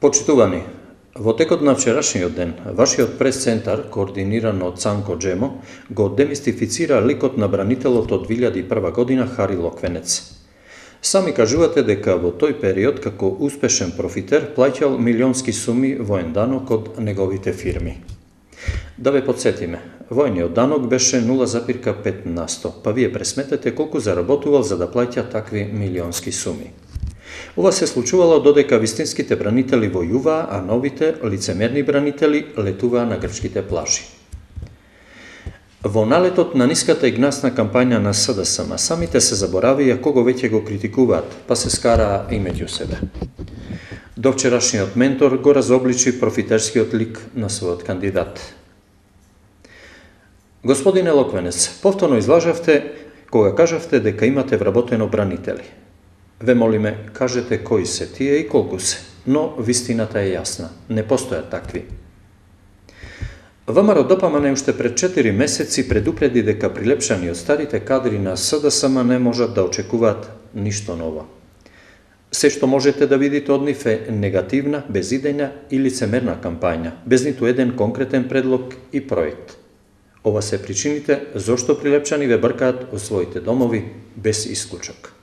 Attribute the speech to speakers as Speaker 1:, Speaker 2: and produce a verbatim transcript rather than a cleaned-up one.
Speaker 1: Почитувани, во текот на вчерашниот ден, вашиот прес-центар, координиран од Цанко Джемо, го демистифицира ликот на бранителот од две илјади и прва година Хари Локвенец. Сами кажувате дека во тој период, како успешен профитер, плаќал милионски суми воен данок од неговите фирми. Да ве подсетиме, војниот данок беше нула запирка пет на сто, па вие пресметете колку заработувал за да плаќа такви милионски суми. Ова се случувало додека вистинските бранители војуваа, а новите, лицемерни бранители летуваа на грчките плажи. Во налетот на ниската и гнасна кампања на СДСМ, самите се заборавија кого веќе го критикуваат, па се скараа и меѓу себе. До вчерашниот ментор го разобличи профитерскиот лик на својот кандидат. Господине Локвенец, повторно излажавте кога кажавте дека имате вработено бранители. Ве молиме, кажете кои се тие и колку се, но вистината е јасна, не постојат такви. ВМРО ДПМН уште пред четири месеци предупреди дека прилепшани од старите кадри на СДСМ не можат да очекуваат ништо ново. Се што можете да видите од нив е негативна, безидејна и лицемерна кампања, без ниту еден конкретен предлог и проект. Ова се причините зошто прилепчани ве бркаат во своите домови без исклучок.